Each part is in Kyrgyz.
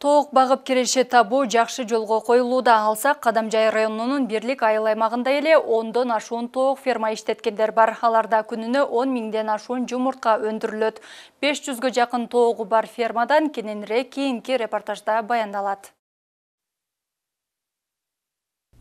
Тоок багып киреше табуу жакшы жолго коюлууда. Алсак, Кадамжай районунун Бирлик айыл аймагында эле 10дон ашуун тоок ферма иштеткендер бар. Аларда күнүнө 10 миңден ашуун жумуртка өндүрүлөт. 500гө жакын тоогу бар фермадан кененирээк кийинки репортажда баяндалат.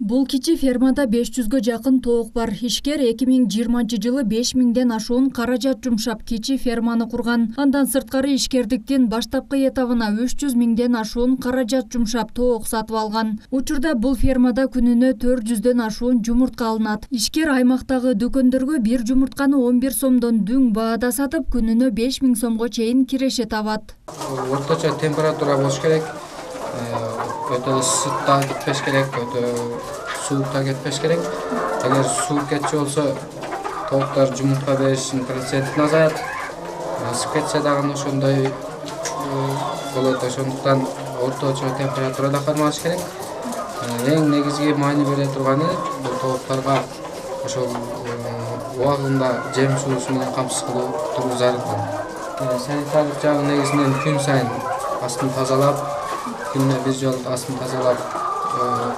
Бул кичи фермада 500гө жакын тоок бар. Ишкер 2020-жылы 5 миңден ашуун каражат жумшап кичи ферманы курган. Андан сырткары ишкердиктин баштапкы этабына 300 миңден ашуун каражат жумшап тоок сатып алган. Учурда бул фермада күнүнө 400дөн ашуун жумуртка алынат. Ишкер аймактагы дүкөндөргө бир жумуртканы 11 сомдон дүң баада сатып, күнүнө 5 миң сомго чейин киреше табат. Орточо температура болуш керек. Өтө ысык да кетпеш керек, өтө суук да кетпеш керек. Эгер суук кетчү болсо, тооктор жумуртка беришинин процентин азаят. Ысык кетсе дагы ошондой болот. Ошондуктан орточо температурада кармаш керек. Эң негизги маани бере турганы бул тоокторго ошол убагында жем суусу менен камсыз кылуу зарыл. Санитардык жагы негизинен күн сайын астын тазалап, күнүнө бир жолу астын тазалап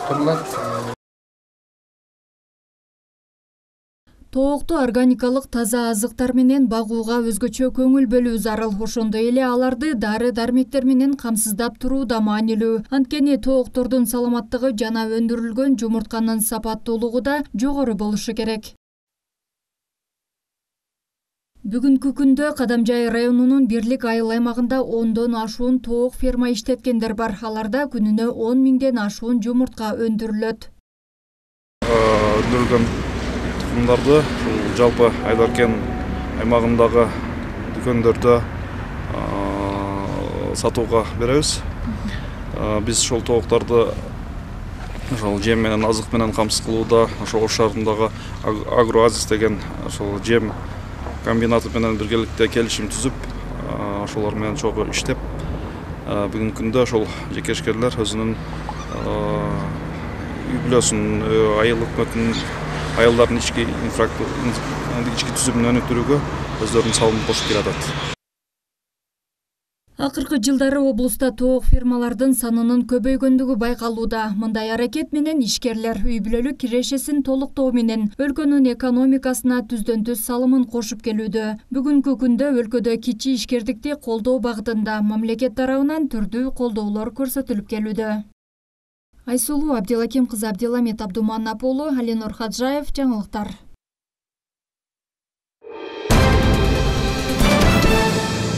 турулат. Тоокту органикалык таза азыктар менен багууга өзгөчө көңүл бөлүү зарыл. Ошондой эле аларды дары-дармектер менен камсыздап туруу да маанилүү. Анткени тооктордун саламаттыгы жана өндүрүлгөн жумуртканын сапаттуулугу да жогору болушу керек. Бүгүнкү күндө Кадамжай районунун Бирлик айыл аймагында 10дон ашуун тоок ферма иштеткендер бар. Аларда күнүнө 10 миңден ашуун жумуртка өндүрүлөт. Өндүрүлгөн тукумдарды жалпы Айдаркен аймагындагы дүкөндөрдө сатууга беребиз. Биз ошол тоокторду ошол жем менен азык менен камсыз кылууда ошол Ош шаарындагы Агроазис деген ошол жем комбинаты менен биргеликте келишим түзүп, ошолор менен чогуу иштеп, бүгүнкү күндө ошол жекешкерлер өзүнүн үй бүлөсүн, айыл өкмөтүнүн, айылдардын ички түзүмүн өнүктүрүүгө өздөрүнүн салымын кошуп келатат. Акыркы жылдары облуста тоок фермалардын санынын көбөйгөндүгү байкалууда. Мындай аракет менен ишкерлер үй бүлөлүк кирешесин толуктоо менен өлкөнүн экономикасына түздөн-түз салымын кошуп келүүдө. Бүгүнкү күндө өлкөдө кичи ишкердикти колдоо багытында мамлекет тарабынан түрдүү колдоолор көрсөтүлүп келүүдө. Айсулуу Абдилаким кызы, Абдиламет Абдуманап уулу, Алинур Хаджаев, жаңылыктар.